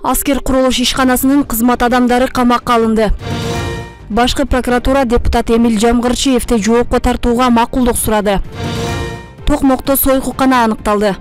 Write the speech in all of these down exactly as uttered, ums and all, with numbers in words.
Аскер курулуш ишканасынын кызмат адамдары камакка алынды. Башкы прокуратура депутат Эмиль Жамгырчиевди жоопко тартууга макулдук сурады. Токмокто сойкукана аныкталды.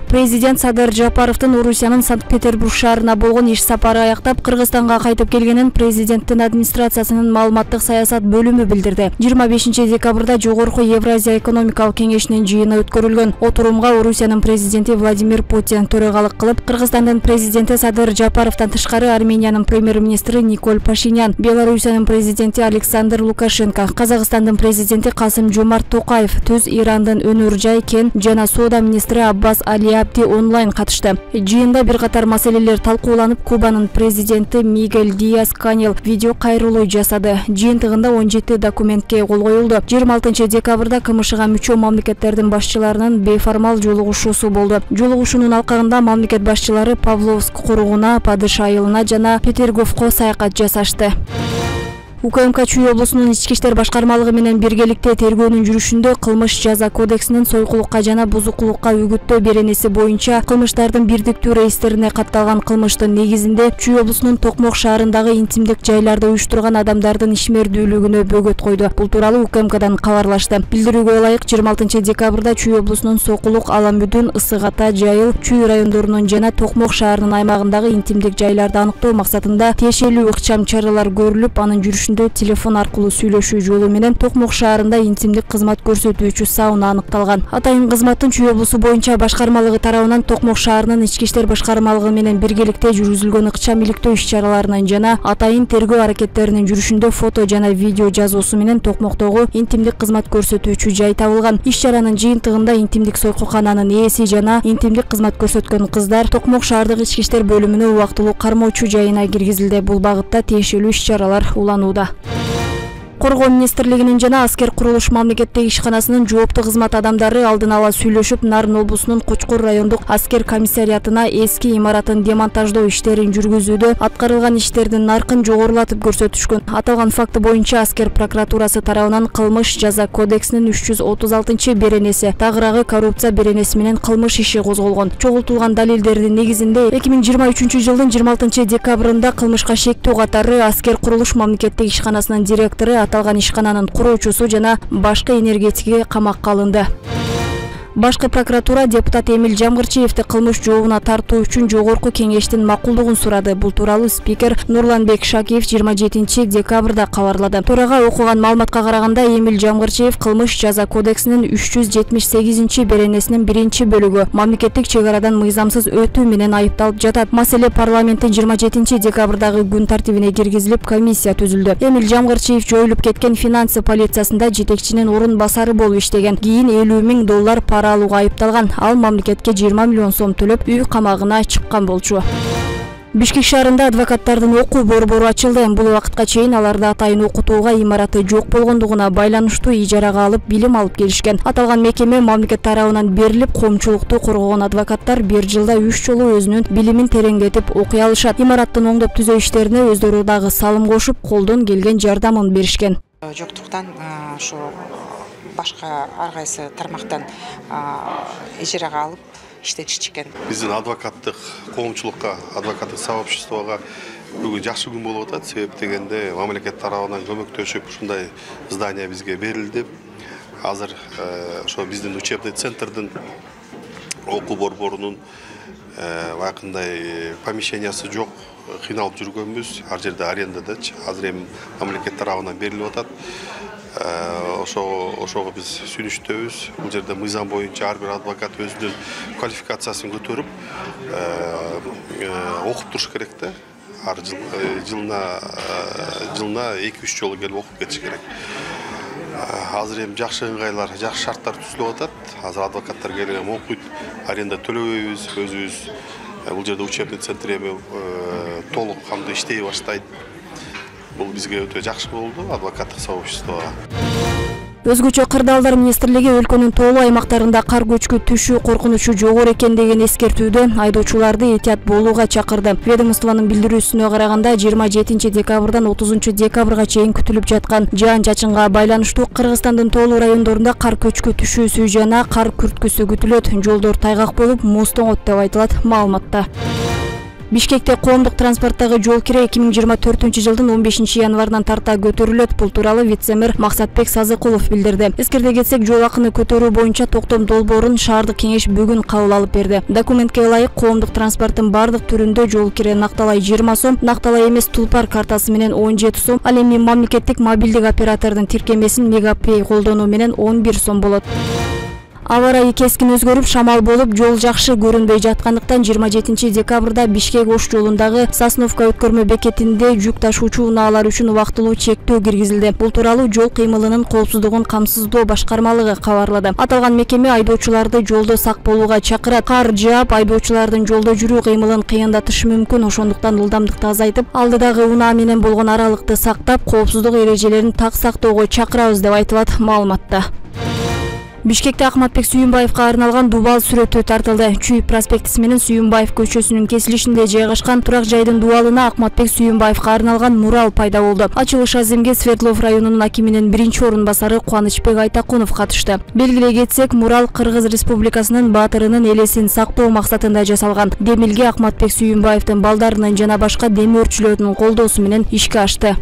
Президент Садыр Жапаровдун Орусиянын Санкт-Петербург шаарына болгон иш сапары аяктап Кыргызстанга кайтып келгенин президенттин администрациясынын маалыматтык саясат бөлүмү билдирди. жыйырма бешинчи декабрда Жогорку Евразия экономикалык кеңешинин жыйыны өткөрүлгөн. Отурумга Орусиянын президенти Владимир Путин төрагалык кылып, Кыргызстандын президенти Садыр Жапаровдон тышкары Армениянын премьер-министри Николь Пашинян, Белоруссиянын президенти Александр Лукашенко, Казакстандын президенти Касым Жомарт Токаев, Түз Ирандын өнөр жай, кен жана соода министри Аббас Али онлайн катышты. Жыйында бир катар маселелер талкууланып, Кубанын президенти Мигель Диас-Канел видео кайрылуу жасады. Жыйынтыгында он жети документке кол коюлду. жыйырма алтынчы декабрда КМШга мүчө мамлекеттердин башчыларынын бейформал жолугушуусу болду. Жолугушуунун алкагында мамлекет башчылары Павловск куругуна, Падыш айылына жана Петерговко саякат жасашты. УКМК Чүй облусунун ички иштер башкармалыгы менен биргеликте тергөөнүн жүрүшүндө кылмыш жаза кодексинин сойкулукка жана бузукулукка үгүттөө беренеси боюнча кылмыштардын бирдиктүү реестерине катталган кылмыштын негизинде Чүй облусунун Токмок шаарындагы интимдик жайларды уюштурган адамдардын ишмердүүлүгүнө бөгөт койду. Бул тууралуу УКМКдан кабарлашты. Билдирүүгө ылайык жыйырма алтынчы декабрда Чүй облусунун Сокулук, Аламүдүн, Ысык Ата, Жайыл, Чүй райондорунун жана Токмок шаарынын аймагындагы интимдик жайларды аныктоо максатында тиешелүү ыкчам чаралар көрүлүп, анын жүрүшүндө телефон аркылуу сүйлөшүү жолу менен Токмок шаарында интимдик кызмат көрсөтүүчү сауна аныкталган. Атайын кызматтын Чүй облусу боюнча башкармалыгы тарабынан Токмок шаарынын ички иштер башкармалыгы менен биргеликте жүргүзүлгөн ыкчам иликтөө иш-чараларынын жана атайын тергөө аракеттеринин жүрүшүндө фото жана видео жазуусу менен Токмоктогу интимдик кызмат көрсөтүүчү жай табылган. Иш-чаранын жыйынтыгында интимдик сойкукананын ээси жана интимдик кызмат көрсөткөн кыздар Токмок шаардык ички иштер бөлүмүнө убактылуу кармоочу жайына киргизилди. Бул багытта тиешелүү иш-чаралар уланууда. Коргоо министрлигинин жана Аскер курулуш мамлекеттик ишканасынын жоопту кызмат адамдары алдын ала сүйлөшүп, Нарын облусунун Кочкор райондук аскер комиссариатына эски имаратын демонтаждоо иштерин жүргүзүүдө аткарылган иштердин наркын жогорулатып көрсөтүшкөн. Аталган факты боюнча Аскер прокуратурасы тарабынан кылмыш жаза кодексинин үч жүз отуз алтынчы беренеси, тагыраагы коррупция беренеси менен кылмыш иши козголгон. Чогултулган далилдердин негизинде эки миң жыйырма үчүнчү жылдын жыйырма алтынчы декабрында кылмышка шектүү катары Аскер курулуш мамлекеттик ишканасынын директору, аталган ишкананын куруучусу жана башкы энергетики камакка алынды. Башкы прокуратура депутат Эмиль Жамгырчиевди кылмыш жообуна тартуу үчүн жогорку кеңештин макулдугун сурады. Бул тууралуу спикер Нурланбек Шакиев жыйырма жетинчи декабрда кабарлады. Төрага окуган маалыматка караганда, Эмиль Жамгырчиев кылмыш жаза кодексинин үч жүз жетимиш сегизинчи беренесинин биринчи бөлүгү мамлекеттик чек арадан мыйзамсыз өтүү менен айыпталып жатат. Маселе парламенттин жыйырма жетинчи декабрдагы күн тартибине киргизилип, комиссия түзүлдү. Эмиль Жамгырчиев жоюлуп кеткен финансы полициясында жетекчинин орун басары болуп иштеген. Кийин элүү миң доллар пара алууга айыпталган. Ал мамлекетке жыйырма миллион сом төлөп, үй камагына чыккан болчу. Бишкек шаарында адвокаттардын окуу борбору ачылды. Бул убакытка чейин аларды атайын окутууга имараты жок болгондугуна байланыштуу ижарага алып, билим алып келишкен. Аталган мекеме мамлекет тарабынан берилип, коомчулукту коргогон адвокаттар бир жылда үч жолу өзүнүн билимин тереңдетип окуй алышат. Имараттын оңдоп түзөө иштерине өздөрү дагы салым кошуп, колдон келген жардамын беришкен. Жоктуктан ошо башка ар кайсы тармактан ижарага алып иштетишкен. Биздин адвокаттык коомчулукка, адвокаттык сообществого бүгүн жакшы күн болуп атат. Себеп дегенде мамлекет тарабынан көмөктөшүп ушундай здание бизге берилди. Азыр ошо биздин учебный центрдин окуу борборунун вакындай помещениясы жок, кыйналып жүргөнбүз. Ар жерде арендадачы. Азыр эми мамлекет тарабынан берилип атат. Ошого ошого биз сүнүштөбүз. Бул жерде мыйзам боюнча ар бир адвокат өзүнүн квалификациясын көтөрүп окуп туруш керек да. Ар жылына жылына эки үч жолу келип окуп кетиш керек. Азыр эми жакшы ыңгайлар, жакшы шарттар түзүлүп атат. Азыр адвокаттар келип окуйт, аренда төлөбөйбүз, өзүбүз. Бул жерде учебный центр эми толук кандуу иштей баштайт. Бул бизге өтө жакшы болду, адвокаттык сообществого. Өзгөчө кырдаалдар министрлиги өлкөнүн тоолуу аймактарында кар көчкү түшүү коркунучу жогору экендигин эскертүүдө айдоочуларды этият болууга чакырды. Ведомствонун билдирүүсүнө караганда, жыйырма жетинчи декабрдан отузунчу декабрга чейин күтүлүп жаткан жаан-чачынга байланыштуу Кыргызстандын тоолуу райондорунда кар көчкү түшүүсү жана кар күрткүсү күтүлөт. Жолдор тайгак болуп, муз тоңот деп айтылат маалыматта. Бишкекте коомдук транспорттогу жол кире эки миң жыйырма төртүнчү жылдын он бешинчи январынан тарта көтөрүлөт. Бул тууралуу вице-мэр Максатбек Сазыкулов билдирди. Эскерте кетсек, жол акыны көтөрүү боюнча токтом долбоорун шаардык кеңеш бүгүн кабыл алып берди. Документке ылайык коомдук транспорттун бардык түрүндө жол кире накталай жыйырма сом, накталай эмес тулпар картасы менен он жети сом, ал эми мамлекеттик мобилдик оператордун тиркемесин Мегапей колдонуу менен он бир сом болот. Аба ырайы кескин өзгөрүп, шамал болуп, жол жакшы көрүнбөй жаткандыктан жыйырма жетинчи декабрда Бишкек Ош жолундагы Сосновка өткөрмө бекетинде жүк ташуучу унаалар үчүн убактылуу чектөө киргизилди. Бул тууралуу жол кыймылынын коопсуздугун камсыздоо башкармалыгы кабарлады. Аталган мекеме айдоочуларды жолдо сак болууга чакырат. Кар жаап, айдоочулардын жолдо жүрүү кыймылын кыйындатышы мүмкүн. Ошондуктан ылдамдыкты азайтып, алдыдагы унаа менен болгон аралыкты сактап, коопсуздук эрежелерин так сактоого чакырабыз деп айтылат маалыматта. Бишкекте Акматбек Сүйүнбаевга арналган дубал сүрөтү тартылды. Чүйүп проспектиси менен Сүйүнбаев көчөсүнүн кесилишинде жайгашкан турак жайдын дубалына Акматбек Сүйүнбаевга арналган мурал пайда болду. Ачылыш аземге Свердлов районунун акиминин биринчи орун басары Кубанычбек Айтакунов катышты. Белгилей кетсек, мурал Кыргыз Республикасынын баатырынын элесин сактоо максатында жасалган. Демилге Акматбек Сүйүнбаевдин балдарынын жана башка дем өрчүлөрдүн колдоосу менен ишке ашты.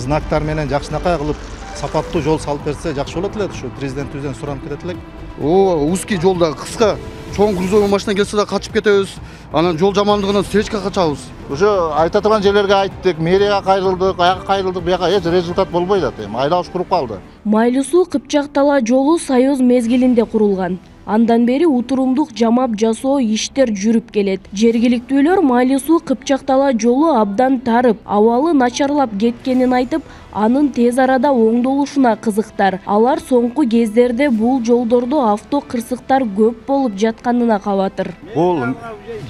Знактар менен жакшынакай кылып сапаттуу жол салып берсе жакшы болот эле. Ушу президентибизден суранып кетет элек. О, узкий жолда кыска, чоң грузовой машина келсе да качып кетебиз. Анан жол жамандыгынан встречка качабыз. Уже айта турган жерлерге айттык, мэрияга кайрылдык, аяка кайрылдык, буяка эч результат болбойт атат. Эми айлабыш куруп калды. Майлуу суу Кыпчак Тала жолу Союз мезгилинде курулган. Андан бери утурумдук жамап жасоо иштер жүрүп келет. Жергиликтүүлөр Майлуу суу Кыпчак Тала жолу абдан тарып, абалы начарлап кеткенин айтып, анын тез арада оңдолушуна кызыктар. Алар соңку кездерде бул жолдордо авто кырсыктар көп болуп жатканына кабатыр. Бул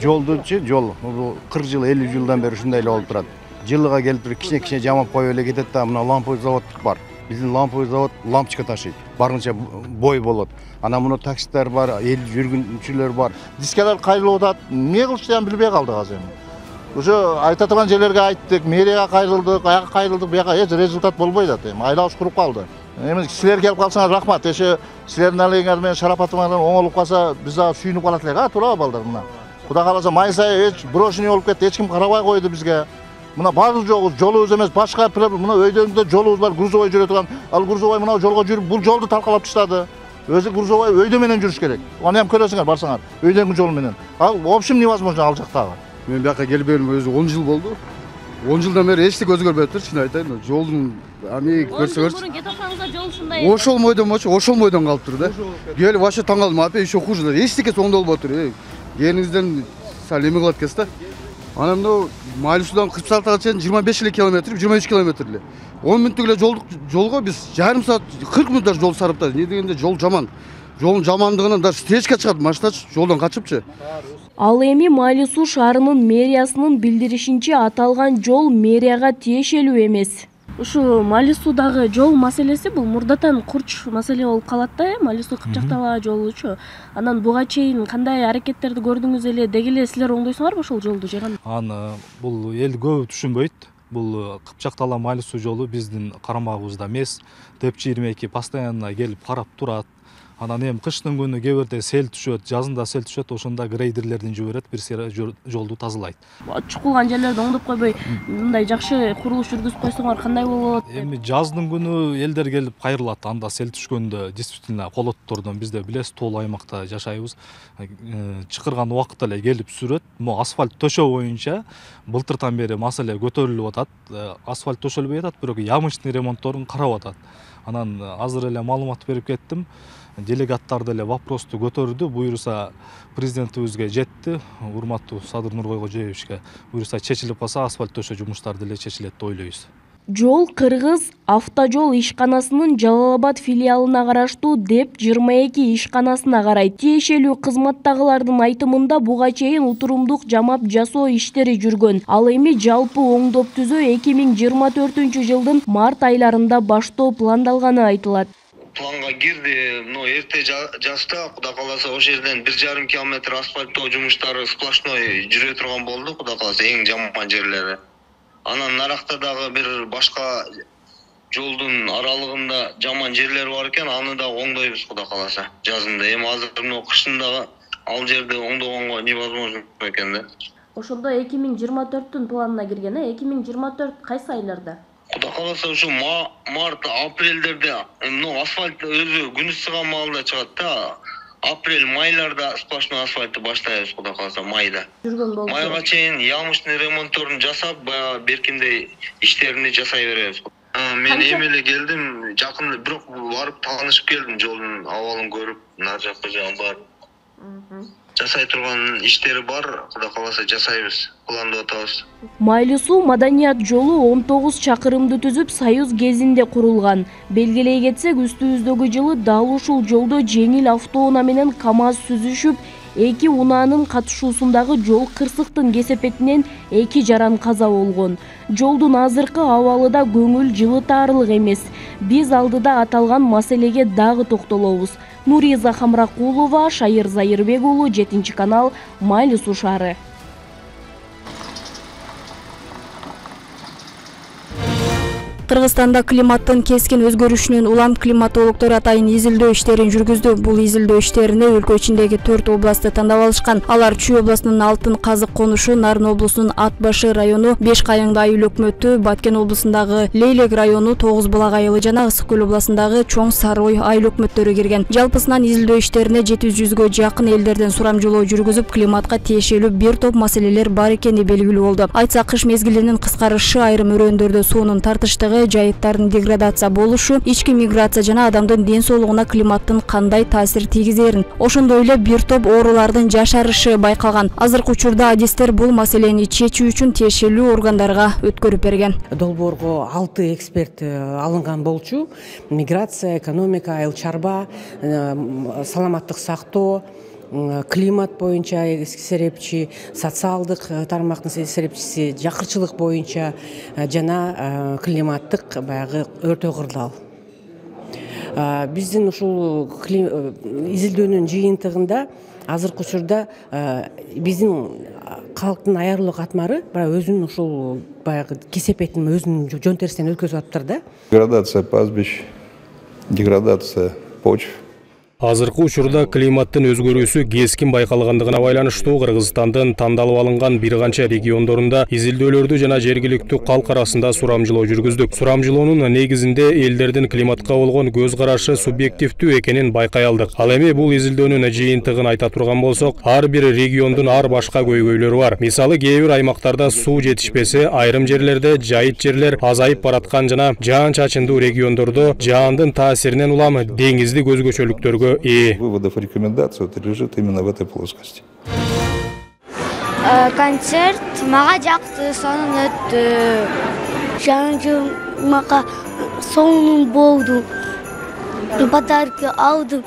жолдучу жол кырк жыл, элүү жылдан бери ушундай эле болуп турат. Жылыга келип туруп кичине-кичине жамап коюп эле кетет да, мына ламповый завод бар. Биздин ламповый завод лампочка ташыйт. Барынча бой болот. Анан муну такситтер бар, эл жүргүнчүлөр бар. Дискалар кайрылып атат. Эмне кылышты билбей калдык азыр эми. Уже айта турган жерлерге айттык, мэрияга кайрылдык, аяка кайрылдык, буяка эч результат болбойт атат. Эми айлабыш куруп калды. Эми силер келип калсаңар рахмат. Эше силердин алегиңер менен шарапатыңар оңолуп калса, биз дагы сүйүнүп калат элек, а туурабы балдар мына. Кудай кааласа май сайы эч брошенный болуп кетти, эч ким карабай койду бизге. Мына бардык жолубуз эмес, башка мына өйдөңдө жолубуз бар, грузовой жүрө турган. Ал грузовой мына жолго жүрүп, бул жолду талкалап таштады. Өзү грузовой өйдө менен жүрүш керек. Аны ham көрөсүңөр, барсаңар, өйдөңдү жол менен. Ал в общем невозможно ал жактагы. Мен бияка келбегениме өзү он жыл болду. он жылдан бери эчтеке өзгөрбөй атыр, чын айтайын. Жолдун ами көрсөңөр. Мурун кете атсаңыздар жол ушундай. Ошол мойдон болчу, ошол мойдон калып тур да. Келип вообще таң калдым, апа еще хуже. Эчтеке оңдолбой атыр. Келиңизден сал эме кылат экенсиз да. Анан мына Майлуу суудан Кыпчактага чейин жыйырма беш эле километр, жыйырма үч километр эле. он мүнөттүк эле жолдук жолго биз жарым саат кырк мүнөттөр жол сарыптадык. Не дегенде жол жаман. Жолдун жамандыгынан даже встречка чыгат, машиначы жолдон качыпчы. Ал эми Майлуу суу шаарынын мэриясынын билдиришинче аталган жол мэрияга тиешелүү эмес. Ушу Майлуу суудагы жол маселеси бул мурдатан курч маселе болуп калат да, Майлуу суу Кыпчак Тала жолучу. Анан буга чейин кандай аракеттерди көрдүңүз эле, деги эле силер оңдойсуңарбы ошол жолду же кандай? Аны бул эл көбү түшүнбөйт. Бул Кыпчак Тала Майлуу суу жолу биздин карамагыбызда эмес. Деп жыйырма эки постоянно келип карап турат. Анан эми кыштын күнү кээ бирде сел түшөт, жазында сел түшөт, ошондо грейдерлердин жиберет, бир сыйра жолду тазалайт. Чукулган жерлерди оңдоп койбой, мындай жакшы курулуш жүргүзүп койсоңор кандай болот? Эми жаздын күнү элдер келип кайрылат, анда сел түшкөндө действительно колоттордон бизде билесиз, тоолуу аймакта жашайбыз. Чыкырган убакытта эле келип сүрөт. Могу асфальт төшөө боюнча былтыртан бери маселе көтөрүлүп атат. Асфальт төшөлбөй атат, бирок ямычный ремонтторун карап атат. Анан азыр эле маалымат берип кеттим. Делегаттар деле вопросту көтөрдү, буюрса президентибизге жетти, урматтуу Садыр Нуркойкожоевичке. Буюрса чечилип калса асфальт төшөө жумуштары деле чечилет деп ойлойбуз. Жол Кыргыз автожол ишканасынын Жалал Абад филиалына караштуу деп жыйырма эки ишканасына карайт. Тиешелүү кызматтагылардын айтымында буга чейин утурумдук жамап жасоо иштери жүргөн. Ал эми жалпы оңдоп түзөө эки миң жыйырма төртүнчү жылдын март айларында баштоо пландалганы айтылат. Планга кирди, но эрте жазда Кудай кааласа ошол жерден бир жарым километр асфальттоо жумуштары сплошной жүрө турган болду, Кудай кааласа эң жаман жерлери. Анан наракта дагы бир башка жолдун аралыгында жаман жерлер бар экен, аны да оңдойбуз Кудай кааласа жазында. Эми азыр мына кышында ал жерди оңдогонго невозможно экен да. Ошондо эки миң жыйырма төрттүн планына кирген, э? эки миң жыйырма төрт кайсы айларда? Кудай кааласа ушу март, апрелдерде, ну асфальт өзү күн ысыган маалда чыгат да. Апрель, майларда сплошной асфальтты баштайбыз Кудай кааласа майда. Жүргөн болчу. Майга чейин ямочный ремонтторун жасап, баягы беркиндей иштерини жасай беребиз. Мен эми эле келдим, жакында бирок барып таанышып келдим, жолдун абалын көрүп, нар жакка жагын барып. Жасай турган иштери бар, Кудай кааласа жасайбыз, пландап атабыз. Майлуу суу маданият жолу он тогуз чакырымды түзүп, Союз кезинде курулган. Белгилей кетсек, үстүбүздөгү жылы дал ушул жолдо жеңил автоунаа менен КАМАЗ сүзүшүп, эки унаанын катышуусундагы жол кырсыктын кесепетинен эки жаран каза болгон. Жолдун азыркы абалы да көңүл жылытаарлык эмес. Биз алдыда аталган маселеге дагы токтолобуз. Нуриза Хамракулова, Шайыр Зайырбек уулу, жетинчи канал, Майлуу суу шаары. Кыргызстанда климаттын кескин өзгөрүшүнөн улам климатологдор атайын изилдөө иштерин жүргүздү. Бул изилдөө иштерине өлкө ичиндеги төрт областты тандап алышкан. Алар Чүй облусунун Алтын Казык конушу, Нарын облусунун Ат башы району, Беш Кайыңды айыл өкмөтү, Баткен облусундагы Лейлек району, Тогуз Булак айылы жана Ысык көл облусундагы Чоң Сарой айыл өкмөттөрү кирген. Жалпысынан изилдөө иштерине жети жүзгө жакын элдерден сурамжылоо жүргүзүп, климатка тиешелүү бир топ маселелер бар экени белгилүү болду. Айтсак, кыш мезгилинин кыскарышы, айрым өрөөндөрдө суунун тартыштыгы, жайыттардын деградация болушу, ички миграция жана адамдын ден соолугуна климаттын кандай таасир тийгизерин, ошондой эле бир топ оорулардын жашарышы байкалган. Азыркы учурда адистер бул маселени чечүү үчүн тиешелүү органдарга өткөрүп берген. Долбоорго алты эксперт алынган болчу. Миграция, экономика, айыл чарба, саламаттык сактоо, климат боюнча серепчи, социалдык тармактын серепчиси, жакырчылык боюнча жана климаттык баягы өртөө кырдаал. Биздин ушул изилдөөнүн жыйынтыгында азыркы учурда биздин калктын аярлуу катмары өзүнүн ушул баягы кесепетин өзүнүн жөн терсинен өткөзүп атыптыр да. Деградация пастбищ, деградация почв. Азыркы учурда климаттын өзгөрүүсү кескин байкалгандыгына байланыштуу Кыргызстандын тандалып алынган бир канча региондорунда изилдөөлөрдү жана жергиликтүү калк арасында сурамжылоо жүргүздүк. Сурамжылоонун негизинде элдердин климатка болгон көз карашы субъективдүү экенин байкай алдык. Ал эми бул изилдөөнүн жыйынтыгын айта турган болсок, ар бир региондун ар башка көйгөйлөрү бар. Мисалы, кээ бир аймактарда суу жетишпесе, айрым жерлерде жайыт жерлер азайып бараткан жана жаан-чачындуу региондордо жаандын таасиринен улам деңиздик өзгөчөлүктөргө и выводов и рекомендаций вот лежит именно в этой плоскости. Концерт мага жакты, сонун өттү. Жаңы жыл мага сонун болду. Подарок алдым.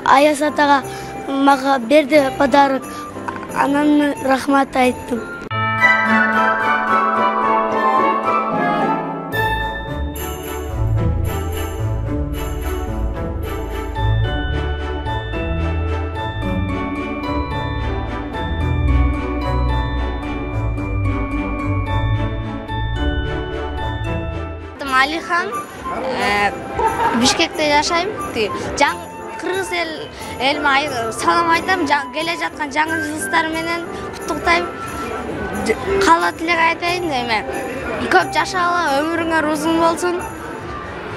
Аяз атага мага берди подарок. Анан рахмат айттым. Алихан, Бишкекте жашайм. Жаң кыргыз эл элиме салам айтам, келе жаткан жаңы жылдыктар менен куттуктайм. Кала тилек айтайын эме. Көп жашагыла, өмүрүңөр узун болсун.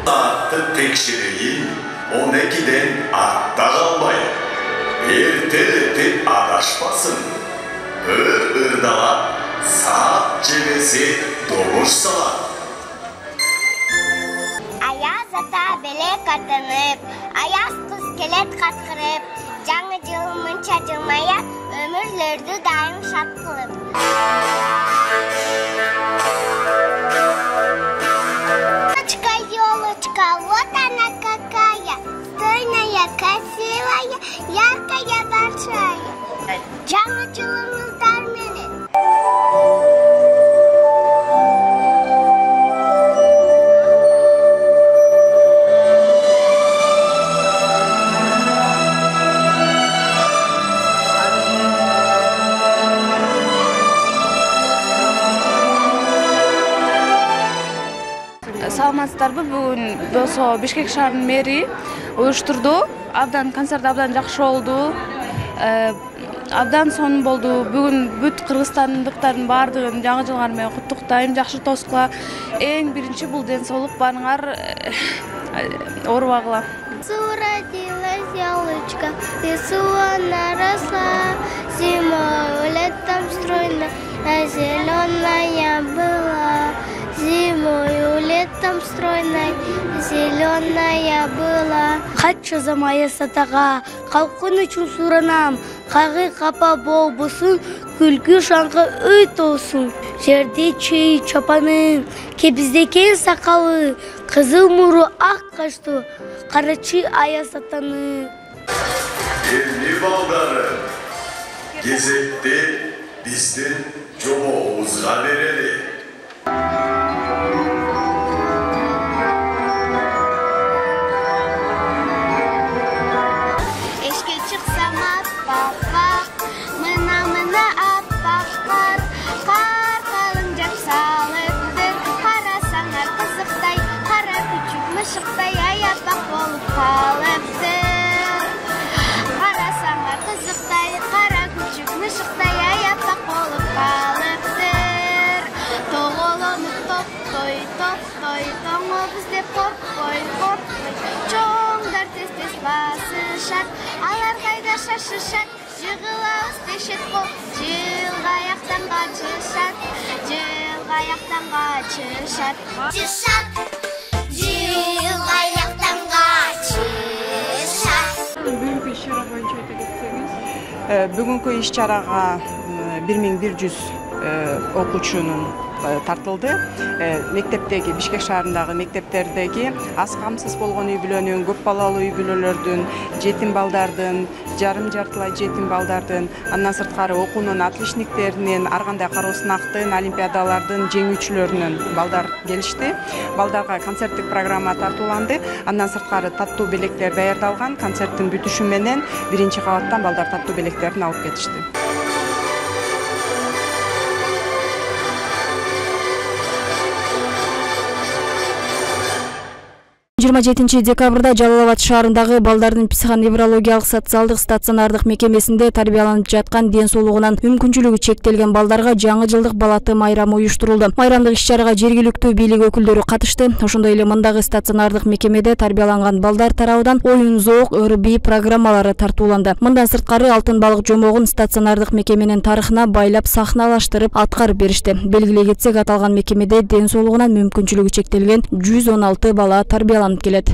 Саатты текшерейин, он экиден артта калбай. Эртелетип адашпасын. Ыр-ырдала саат жебеси добуш салат. Аяз ата белек атынып, аяз кыз келет каткырып, жаңы жыл мынча жылмая, өмүрлөрдү дайым шат кылып. Елочка, елочка, вот она какая, стройная, красивая, яркая, большая. Жаңы жылыңыздар менен. саламатсыздарбы? Бүгүн болсо Бишкек шаарынын мэри уюштурду. Абдан концерт абдан жакшы болду. Абдан сонун болду. Бүгүн бүт кыргызстандыктардын баардыгын жаңы жылыңар менен куттуктайм. Жакшы тосукла. Эң биринчи бул ден соолук барыңар оорубагыла. Родилась яблочко, лесу наросла, зимой летом стройная, зеленая была. Зимой летом стройной, зеленая была. Качча замая сатага, калкын үчүн суранам. Кагы капа болбосун, күлкү шаңкы өй толсун. Жерде чей чапанын, кебиздекен сакалы, кызыл муру ак каштуу, карачы аяз атаны. Эмне балдары, кезекте биздин жобобузга берели. Эшке чыксам аппак, мына-мына аппак кар, кар калың жап салыпты, карасаңар кызыктай, кара күчүк мышыктай аяпак болуп калыпты. Карасаңар кызыктай, кара күчүк мышыктай аяпак болуп калыптыр. Тоголонуп топтой, топтой, тоңобуз деп коркпой, коркпой, чоңдар тез-тез басышат, алар кайда шашышат, жыгылабыз дешет бол, жылгаяктан качышат, жылгаяктан качышат. Чышат, жылгаяктан качышат. Бүгүнкү иш-чара боюнча айта кетсеңиз? Бүгүнкү иш-чарага бир миң бир жүз окуучунун тартылды. Мектептеги, Бишкек шаарындагы мектептердеги аз камсыз болгон үй бүлөнүн, көп балалуу үй бүлөлөрдүн, жетим балдардын, жарым жартылай жетим балдардын, андан сырткары окуунун отличниктеринин, ар кандай кароо сынактын, олимпиадалардын жеңүүчүлөрүнүн балдар келишти. Балдарга концерттик программа тартууланды. Андан сырткары таттуу белектер даярдалган. Концерттин бүтүшү менен биринчи кабаттан балдар таттуу белектерин алып кетишти. жыйырма жетинчи декабрда Жалал Абад шаарындагы балдардын психоневрологиялык социалдык стационардык мекемесинде тарбияланып жаткан ден соолугунан мүмкүнчүлүгү чектелген балдарга жаңы жылдык балаты майрамы уюштурулду. Майрамдык иш-чарага жергиликтүү бийлик өкүлдөрү катышты. Ошондой эле мындагы стационардык мекемеде тарбияланган балдар тарабынан оюн, зоок, өр-бий программалары тартууланды. Мындан сырткары алтын балык жомогун стационардык мекеменин тарыхына байлап сахналаштырып аткарып беришти. Белгилей кетсек, аталган мекемеде ден соолугунан мүмкүнчүлүгү чектелген жүз он алты бала тарбияланып келет.